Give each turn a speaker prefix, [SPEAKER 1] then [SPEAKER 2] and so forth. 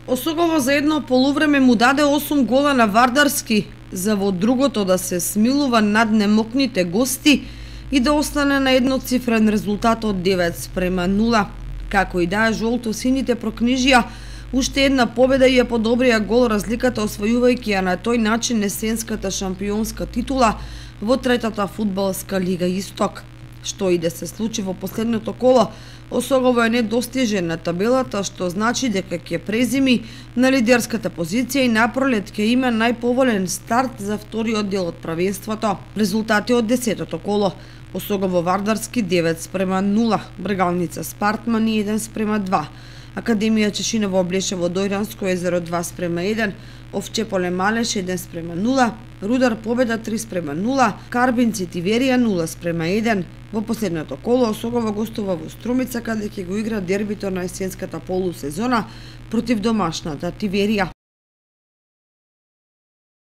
[SPEAKER 1] Осогово за едно полувреме му даде 8 гола на Вардарски, за во другото да се смилува над немокните гости и да остане на едноцифрен резултат од 9:0. Како и да, жолто-сините прокнижија уште една победа и ја подобрија гол разликата, освојувајќи ја на тој начин есенската шампионска титула во третата фудбалска лига Исток. Што и да се случи во последното коло, Осогово е недостижен на табелата, што значи дека ќе презими на лидерската позиција и напролет ќе има најповолен старт за вториот дел од правенството. Резултати од 10-тото коло: Осогово Вардарски 9:0, Бргалница Спартман 1:2, Академија Чешиново Облешево Дојранско езеро 2:1, Овчеполе Малеш 1:0, Рудар Победа 3:0, Карбинци Тиверија 0:1. Во последното коло Осогово гостува во Струмица, каде ќе го игра дербито на есенската полусезона против домашната Тиверија.